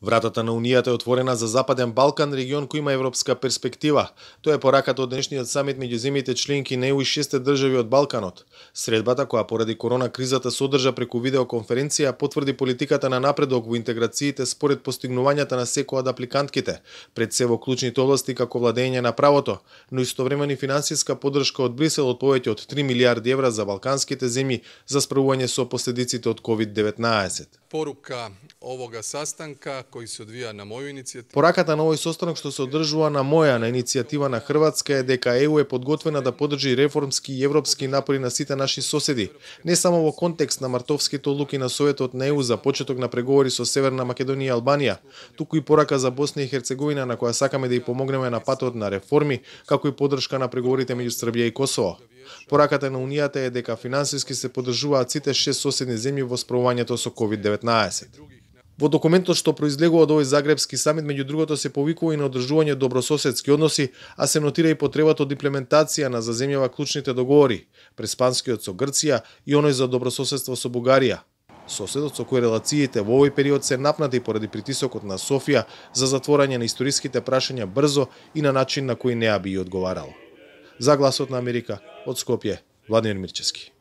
Вратата на Унијата е отворена за Западен Балкан, регион кој има европска перспектива. Тоа е пораката од денешниот самит меѓу земјите членки на ЕУ и 6 држави од Балканот. Средбата, која поради корона кризата се одржа преку видеоконференција, потврди политиката на напредок во интеграциите според постигнувањата на секоја од апликантките, пред се во клучните области како владење на правото, но истовремено и финансиска поддршка од Брисел од повеќе од 3 милиарди евра за балканските земји за справување со последиците од COVID-19. Порука овога састанка кој се одвија на моја иницијатива. Пораката на овој состанок што се одржува на иницијатива на Хрватска е дека ЕУ е подготвена да поддржи реформски и европски напори на сите наши соседи, не само во контекст на мартовските одлуки на Советот на ЕУ за почеток на преговори со Северна Македонија и Албанија, туку и порака за Босна и Херцеговина на која сакаме да ја помогнеме на патот на реформи, како и поддршка на преговорите меѓу Србија и Косово. Пораката на Унијата е дека финансиски се поддржуваат сите 6 соседни земји во справувањето со COVID-19. Во документот што произлегува од овој Загребски самит, меѓу другото се повикува и на одржување добрососедски односи, а се нотира и потребата од имплементација на за земјава клучните договори, преспанскиот со Грција и оној за добрососедство со Бугарија. Соседот со кој релациите во овој период се напнати поради притисокот на Софија за затворање на историските прашања брзо и на начин на кој неа би одговарало. За Гласот на Америка, од Скопје, Владимир Мирчевски.